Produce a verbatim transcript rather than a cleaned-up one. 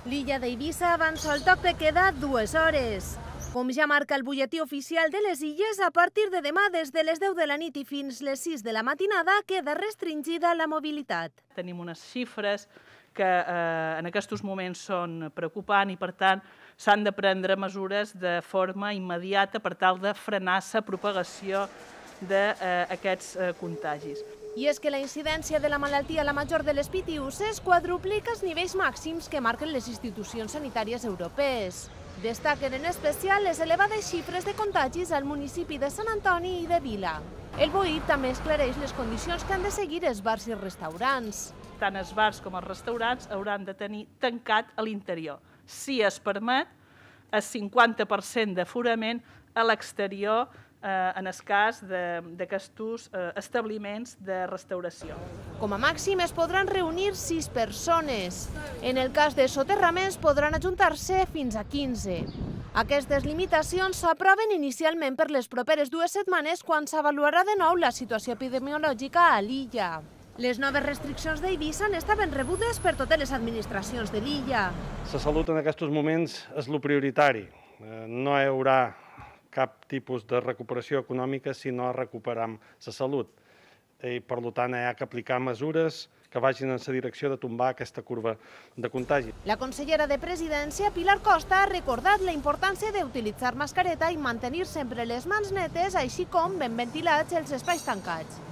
L'illa d'Eivissa avança el toc de queda dues hores. Com ja marca el butlletí oficial de les illes, a partir de demà, des de les deu de la nit i fins les sis de la matinada, queda restringida la mobilitat. Tenim unes xifres que eh, en aquests moments són preocupants i, per tant, s'han de prendre mesures de forma immediata per tal de frenar la propagació d'aquests eh, contagis. I és que la incidència de la malaltia a la major de les pitiüses quadruplica els nivells màxims que marquen les institucions sanitàries europees. Destaquen en especial les elevades xifres de contagis al municipi de Sant Antoni i de Vila. El BOI també esclareix les condicions que han de seguir els bars i restaurants. Tant els bars com els restaurants hauran de tenir tancat a l'interior. Si es permet, el cinquanta per cent d'aforament a l'exterior en el cas d'aquests establiments de restauració. Com a màxim es podran reunir sis persones. En el cas de soterraments podran ajuntar-se fins a quinze. Aquestes limitacions s'aproven inicialment per les properes dues setmanes quan s'avaluarà de nou la situació epidemiològica a l'illa. Les noves restriccions d'Eivissa estaven rebudes per totes les administracions de l'illa. La salut en aquests moments és el prioritari. No hi haurà cap tipus de recuperació econòmica si no recuperem la salut. I, per tant, hi ha que aplicar mesures que vagin en la direcció de tombar aquesta curva de contagi. La consellera de Presidència, Pilar Costa, ha recordat la importància d'utilitzar mascareta i mantenir sempre les mans netes, així com ben ventilats els espais tancats.